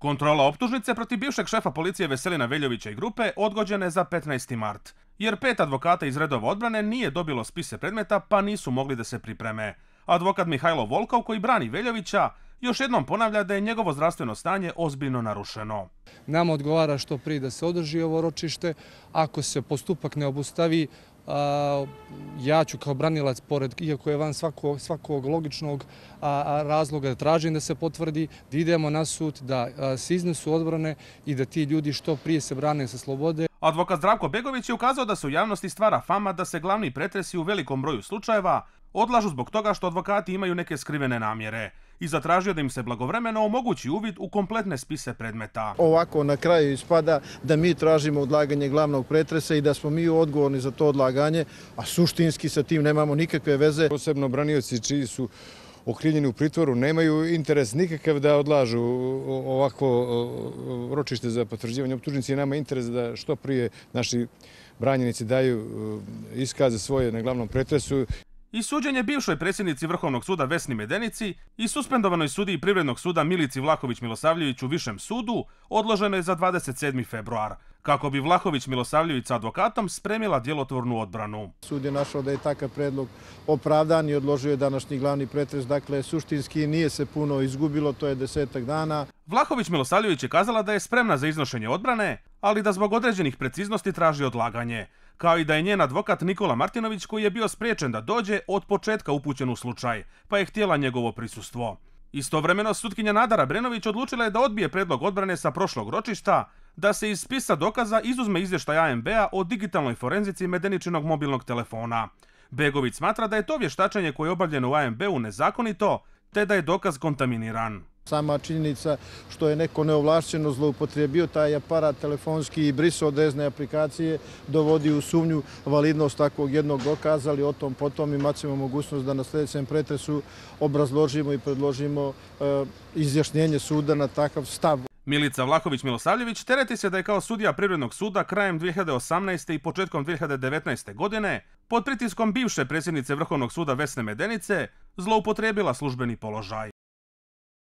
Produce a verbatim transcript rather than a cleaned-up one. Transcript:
Kontrola optužnice protiv bivšeg šefa policije Veselina Veljovića i grupe odgođena je za petnaesti mart, jer pet advokata iz redova odbrane nije dobilo spise predmeta pa nisu mogli da se pripreme. Advokat Mihajlo Volkov, koji brani Veljovića, još jednom ponavlja da je njegovo zdravstveno stanje ozbiljno narušeno. Nama odgovara što prije da se održi ovo ročište. Ako se postupak ne obustavi, ja ću kao branilac, pored, iako je van svakog, svakog logičnog razloga, da tražim da se potvrdi, da idemo na sud, da se iznesu odbrane i da ti ljudi što prije se brane sa slobode. Advokat Zdravko Begović je ukazao da se u javnosti stvara fama da se glavni pretresi u velikom broju slučajeva odlažu zbog toga što advokati imaju neke skrivene namjere i zatražio da im se blagovremeno omogući uvid u kompletne spise predmeta. Ovako na kraju ispada da mi tražimo odlaganje glavnog pretresa i da smo mi odgovorni za to odlaganje, a suštinski sa tim nemamo nikakve veze. Posebno branioci čiji su okrivljeni u pritvoru nemaju interes nikakav da odlažu ovakvo ročište za potvrđivanje optužnice i nama je interes da što prije naši branjenici daju iskaze svoje na glavnom pretresu. I suđenje bivšoj predsjednici Vrhovnog suda Vesni Medenici i suspendovanoj sudiji Privrednog suda Milici Vlahović-Milosavljević u Višem sudu odloženo je za dvadeset sedmi februar, kako bi Vlahović-Milosavljević sa advokatom spremila djelotvornu odbranu. Sud je našao da je takav predlog opravdan i odložio je današnji glavni pretres, dakle suštinski nije se puno izgubilo, to je desetak dana. Vlahović-Milosavljević je kazala da je spremna za iznošenje odbrane, ali da zbog određenih preciznosti traži odlaganje, kao i da je njen advokat Nikola Martinović, koji je bio spriječen da dođe, od početka upućen u slučaj, pa je htjela njegovo prisustvo. Istovremeno, sutkinja Nadara Brenović odlučila je da odbije predlog odbrane sa prošlog ročišta, da se iz spisa dokaza izuzme izvještaj A M B-a o digitalnoj forenzici Medeničinog mobilnog telefona. Begović smatra da je to vještačenje koje je obavljeno u A M B-u nezakonito, te da je dokaz kontaminiran. Sama činjenica što je neko neovlašćeno zloupotrijebio taj aparat telefonski i brisao određene aplikacije dovodi u sumnju validnost takvog jednog dokaza, ali o tom potom imat ćemo mogućnost da na sljedećem pretresu obrazložimo i predložimo e, izjašnjenje suda na takav stav. Milica Vlahović-Milosavljević tereti se da je kao sudija Privrednog suda krajem dvije hiljade osamnaeste. i početkom dvije hiljade devetnaeste. godine pod pritiskom bivše predsjednice Vrhovnog suda Vesne Medenice zloupotrijebila službeni položaj.